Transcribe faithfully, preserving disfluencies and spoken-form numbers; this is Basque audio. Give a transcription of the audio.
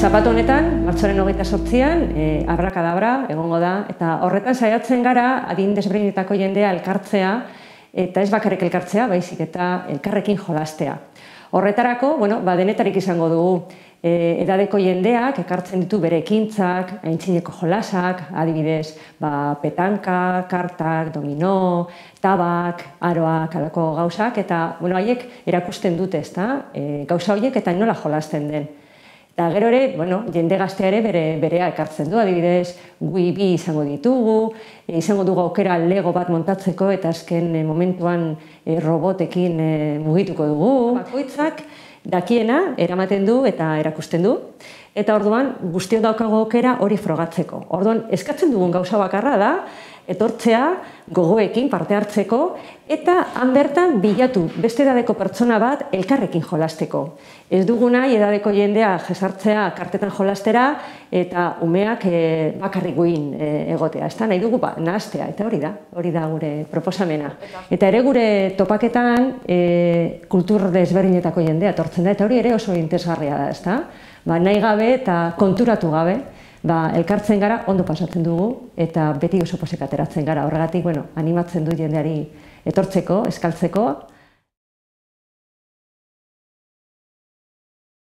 Zapatu honetan, martxoaren hogeita zortzian, e, abrakadabra egongo da, eta horretan saiatzen gara adin desberdinetako jendea elkartzea, eta ez bakarrik elkartzea, baizik eta elkarrekin jolastea. Horretarako, bueno, ba, denetarik izango dugu, e, edadeko jendeak ekartzen ditu bere ekintzak, aintzineko jolasak, adibidez, ba, petanka, kartak, domino, tabak, aroak, alako gauzak, eta bueno, haiek erakusten dute, ezta, e, gauza horiek eta nola jolasten den. Eta gero ere, bueno, jende gaztea ere bere, berea ekartzen du, adibidez, gui bi izango ditugu, e, izango dugu aukera lego bat montatzeko eta azken e, momentuan e, robotekin e, mugituko dugu. Bakoitzak dakiena eramaten du eta erakusten du, eta orduan guztiok daukago aukera hori frogatzeko. Orduan eskatzen dugun gauza bakarra da, etortzea gogoekin parte hartzeko, eta han bertan bilatu beste edadeko pertsona bat elkarrekin jolasteko. Ez dugu nahi edadeko jendea jesartzea kartetan jolastera eta umeak e, bakarrik guin e, egotea. Ez da, nahi dugu ba, nahastea, eta hori da, hori da gure proposamena. Eta ere gure topaketan e, kultur desberdinetako jendea etortzen da, eta hori ere oso interesgarria da, ez da? Ba, nahi gabe eta konturatu gabe, ba, elkartzen gara, ondo pasatzen dugu, eta beti oso posik ateratzen gara. Horregatik, bueno, animatzen du jendeari etortzeko, eskaltzeko.